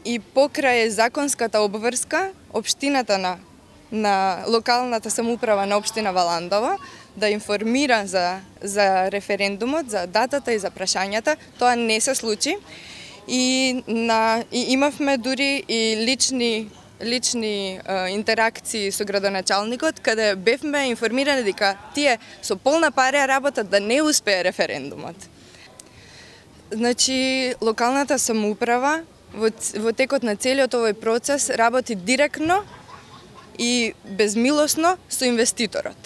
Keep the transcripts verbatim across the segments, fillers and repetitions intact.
и покрај законската обврска, општината на на локалната самоуправа на општина Валандово да информира за за референдумот, за датата и за прашањата, тоа не се случи. И на и имавме дури и лични лични е, интеракции со градоначалникот, каде бевме информирани дека тие со полна пари работат да не успее референдумот. Значи, локалната самоуправа во, во текот на целиот овој процес работи директно и безмилосно со инвеститорот.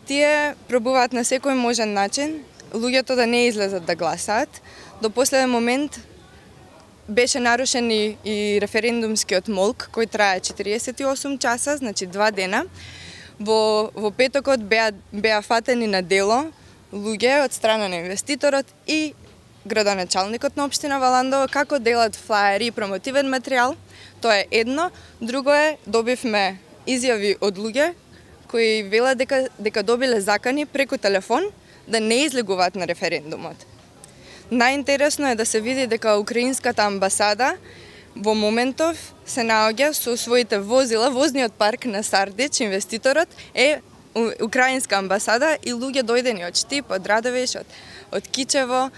Тие пробуваат на секој можен начин луѓето да не излезат да гласаат. До последен момент беше нарушен и, и референдумскиот молк, кој трае четириесет и осум часа, значи два дена. Во, во петокот беа, беа фатени на дело луѓе од страна на инвеститорот и градоначалникот на општина Валандово како делат флаери и промотивен материјал. Тоа е едно. Друго е, добивме изјави од луѓе кои велат дека, дека добиле закани преку телефон да не излегуваат на референдумот. Најинтересно е да се види дека украинската амбасада во моментов се наоѓа со своите возила, возниот парк на Сардич, инвеститорот е украинска амбасада и луѓе дојдени од Штип, од Радовиш, од, од Кичево.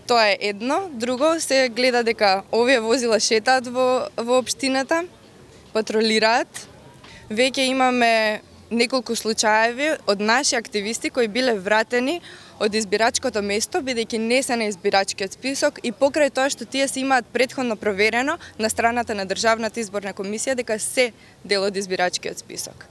Тоа е едно. Друго, се гледа дека овие возила шетаат во, во општината, патролираат. Веќе имаме неколку случаеви од наши активисти кои биле вратени од избирачкото место, бидејќи не се на избирачкиот список и покрај тоа што тие се имаат претходно проверено на страната на Државната изборна комисија дека се дел од избирачкиот список.